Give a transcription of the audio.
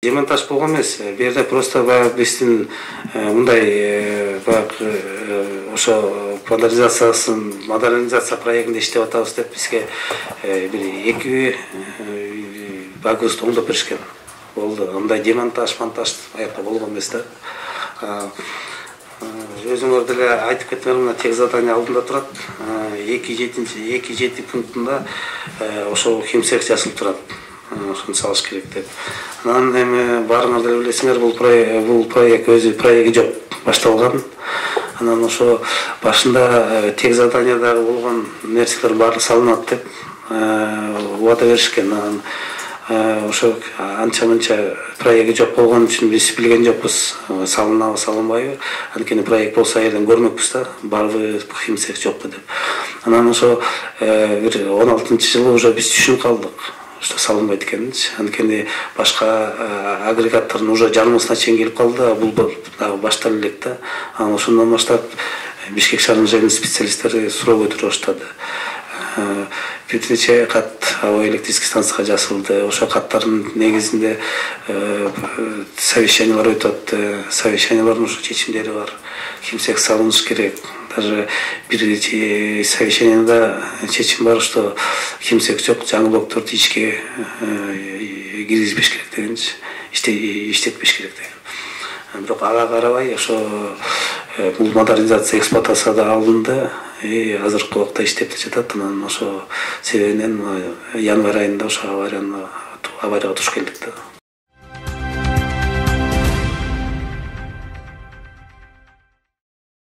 Демонтаж болгон эмес. Бу жерде просто биздин мындай ошо модернизация проектинде иштеп атабыз деп бизге бир 2 багыбызды оңдоп беришкен. Болду. Мындай демонтаж, монтаж аякта болгон эмес да. Өзүңөр деле айтып кеткендер мына тех задание алдында турат. 2.7 пунктунда ошол химцех жазылып турат. Ошону салыш керек деп. Анан эми баарыңар деле билесиңер, бул проект өзү проекти жок, башталган. Анан ошо башында тех заданиядагы болгон нерселер баары салынат деп убада беришкен. Анан ошо анча-мынча проекти жок болгон үчүн биз билген жокпуз, салынабы салынбайбы. Анткени проект болсо айдан көрмөкпүз да, барбы химцех жокпу деп. Анан ошо бир 16-жылы уже биз түшүнүп калдык, что салынбайт экенинчи. Анткени башка агрегаттардын уже жарымысына чейин келип калды, бул дагы башталып элек да. Анан ошондон баштап Бишкек шаарынын жайын специалисттери суроо көтөрө баштады. Бир нече кат аба электрический станцияга жасалды. Ошо каттардын негизинде совещаниялар өтүп атты. Совещаниялардын ошо чечимдери бар. Химцех салыныш керек. Даже бир совещанияда чечим бар, что химцех жок, жаңы блокторду ишке киргизбеш керек дегенчи, иштетпеш керек деген. Бирок ага карабай ошо бул модернизация эксплуатацияда алынды. Азыркы убакта иштеп жатат. Анан ошо себебинен январь айында ошо аварияга туш келдик да.